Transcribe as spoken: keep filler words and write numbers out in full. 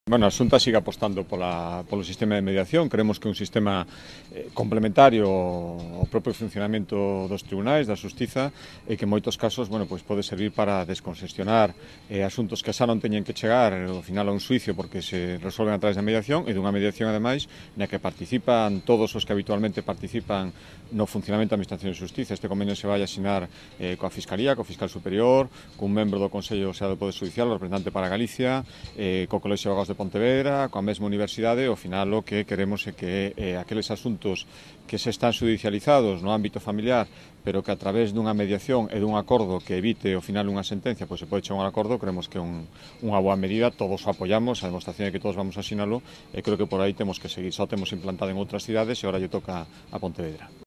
Bueno, a Xunta sigue apostando pola, polo sistema de mediación. Creemos que é un sistema eh, complementario ao propio funcionamento dos tribunais, da xustiza, e que en moitos casos, bueno, pois pode servir para descongestionar eh, asuntos que xa non teñen que chegar ao final a un suicio porque se resolven a través da mediación, e dunha mediación, ademais, na que participan todos os que habitualmente participan no funcionamento da Administración de Xustiza. Este convenio se vai a asinar eh, coa Fiscalía, co Fiscal Superior, cun membro do Consello xa do Poder Judicial, o representante para Galicia, eh, co Colexio de Abogados de Pontevedra, coa mesma universidade. Ao final o que queremos é que eh, aqueles asuntos que se están judicializados no ámbito familiar, pero que a través dunha mediación e dun acordo que evite ao final unha sentencia, pois se pode chegar a un acordo. Creemos que é un, unha boa medida, todos o apoiamos, a demostración é que todos vamos a asinalo, e creo que por aí temos que seguir. Só temos implantado en outras cidades e agora lle toca a Pontevedra.